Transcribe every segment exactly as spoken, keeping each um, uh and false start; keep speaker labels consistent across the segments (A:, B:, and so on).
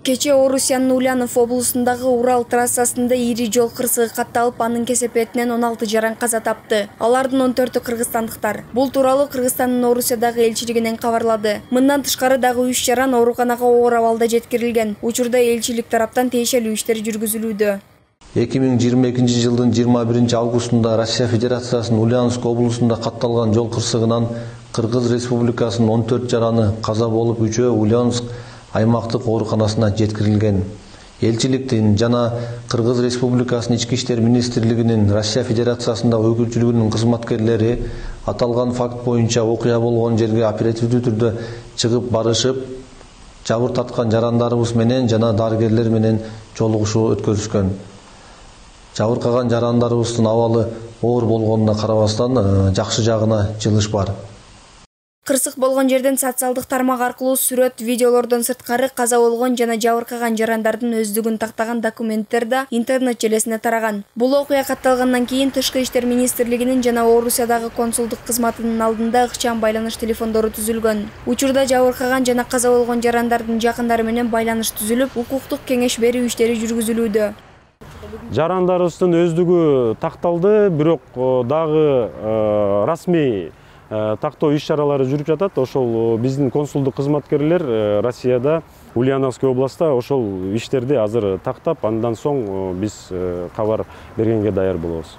A: Кече Орусиянын Ульянов облусундагы Урал трассасында ири жол кырсыгы катталып, анын кесепетинен он алты жаран каза тапты. Алардын он төртү кыргызстандыктар. Бул тууралуу Кыргызстандын Орусиядагы элчилигинен кабарлады. Мындан тышкары дагы үч жаран ооруканага оор абалда жеткирилген. Учурда элчилик тараптан тиешелүү иштер жүргүзүлүүдө.
B: эки миң жыйырма экинчи жылдын жыйырма биринчи августунда Россия Федерациясынын Ульяновск облусунда катталган жол кырсыгынан Кыргыз Республикасынын он төрт жараны каза болуп, үчөө Ульяновск аймактык ооруканасына жеткирилген. Элчиликтин жана Кыргыз Республикасынын Ички иштер министрлигинин Россия Федерациясындагы өкүлчүлүгүнүн кызматкерлери аталган факт боюнча окуя болгон жерге оперативдүү түрдө чыгып барышып, жабыр тарткан жарандарыбыз менен жана дарыгерлер менен жолугушуу өткөрүшкөн. Жабыркаган жарандарыбыздын абалы оор болгонуна карабастан жакшы жагына жылыш бар.
A: Кырсык болгон жерден социалдык тармак аркылуу сүрөт, видеолордон сырткары каза болгон жана жабыркаган жарандардын өздүгүн тактаган документтер да интернет желесине тараган. Бул окуя катталгандан кийин Тышкы иштер министрлигинин жана Орусиядагы консулдук кызматынын алдында ыкчам байланыш телефондору түзүлгөн. Учурда жабыркаган жана каза болгон жарандардын жакындары менен байланыш түзүлүп, укуктук кеңеш берүү иштери жүргүзүлүүдө.
C: Жарандарыбыздын өздүгү такталды, бирок дагы расмий тактоо иш-чаралары жүрүп жатат. Ошол биздин консулдук кызматкерлер Россияда, Ульяновск областта ошол иштерди азыр тактап, андан соң биз кабар бергенге даяр болобуз.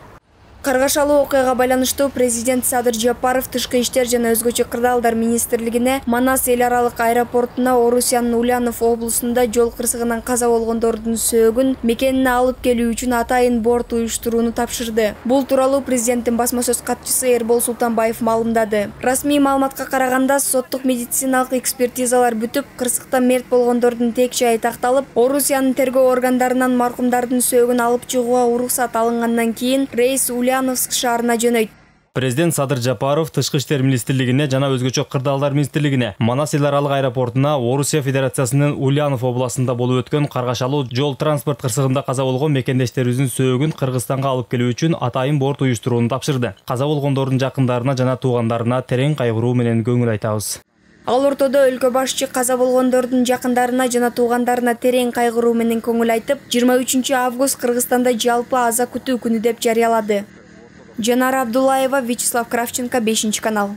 A: Каргашалуу окуяга байланыштуу президент Садыр Жапаров Тышкы иштер жана өзгөчө кырдаалдар министрлигине Манас эл аралык аэропортуна Орусиянын Ульянов облусунда жол кырсыгынан каза болгондордун сөөгүн мекенине алып келүү үчүн атайын борт уюштурууну тапшырды. Бул тууралуу президенттин басма сөз катчысы Эрбол Султанбаев маалымдады. Расмий маалыматка караганда, соттук медициналык экспертизалар бүтүп, кырсыкта мерт болгондордун тек жайы такталып, Орусиянын тергөө органдарынан маркумдардын сөөгүн алып чыгууга уруксат алынгандан кийин рейс Ульяновск шаарына жөнөйт.
D: Президент Садыр Жапаров Тышкы иштер министрлигине жана өзгөчө кырдаалдар министрлигине Манас эл аралык аэропортуна Орусия Федерациясынын Ульянов областында болуп өткөн каргашалуу жол транспорт кырсыгында каза болгон мекендештерибиздин сөөгүн Кыргызстанга алып келүү үчүн атайын борт уюштурууну тапшырды. Каза болгондордун жакындарына жана туугандарына терең кайгыруу менен көңүл айтабыз.
A: Ал ортодо өлкө башчы каза болгондордун жакындарына жана туугандарына терең кайгыруу менен көңүл айтып, жыйырма үчүнчү август Кыргызстанда жалпы аза күтүү күнү деп жарыялады. Жанара Абдуллаева, Вячеслав Кравченко, бешинчи канал.